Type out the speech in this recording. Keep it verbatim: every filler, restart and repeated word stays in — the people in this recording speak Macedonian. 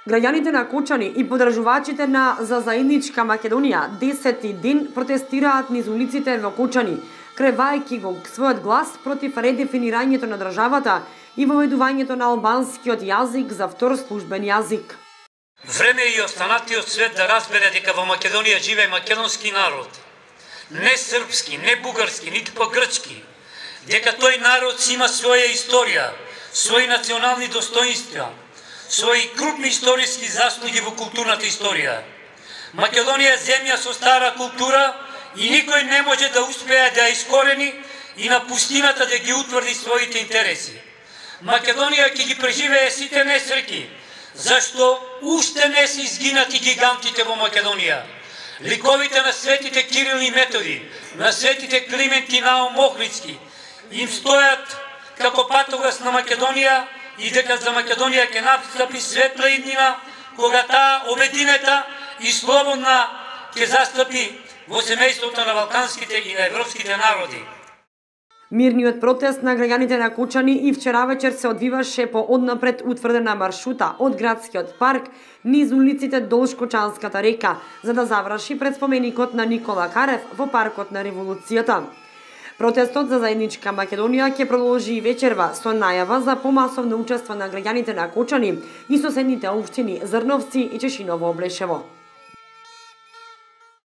Граѓаните на Кочани и подржувачите на За заедничка Македонија десети ден протестираат низ улиците во Кочани, кревајќи го својот глас против редефинирањето на државата и воведувањето на албанскиот јазик за втор службен јазик. Време и останатиот свет да разбере дека во Македонија живее македонски народ, не српски, не бугарски, ниту по-грчки, дека тој народ си има своја историја, своји национални достоинства, своји крупни историски заслуги во културната историја. Македонија е земја со стара култура и никој не може да успее да ја искорени и на пустината да ги утврди своите интереси. Македонија ќе ги преживее сите несреќи, зашто уште не се изгинати гигантите во Македонија. Ликовите на светите Кирил и Методи, на светите Климент и Наум Охридски им стојат како патогас на Македонија и дека за Македонија ќе настапи светла иднина, кога таа обединета и слободна ќе застапи во семејството на балканските и на европските народи. Мирниот протест на граѓаните на Кочани и вчера вечер се одвиваше по однапред утврдена маршрута од градскиот парк низ улиците долж Кочанската река, за да заврши пред споменикот на Никола Карев во паркот на Револуцијата. Протестот за заедничка Македонија ќе продолжи и вечерва со најава за помасовно учество на граѓаните на Кочани и соседните општини Зрновци и Чешиново Облешево.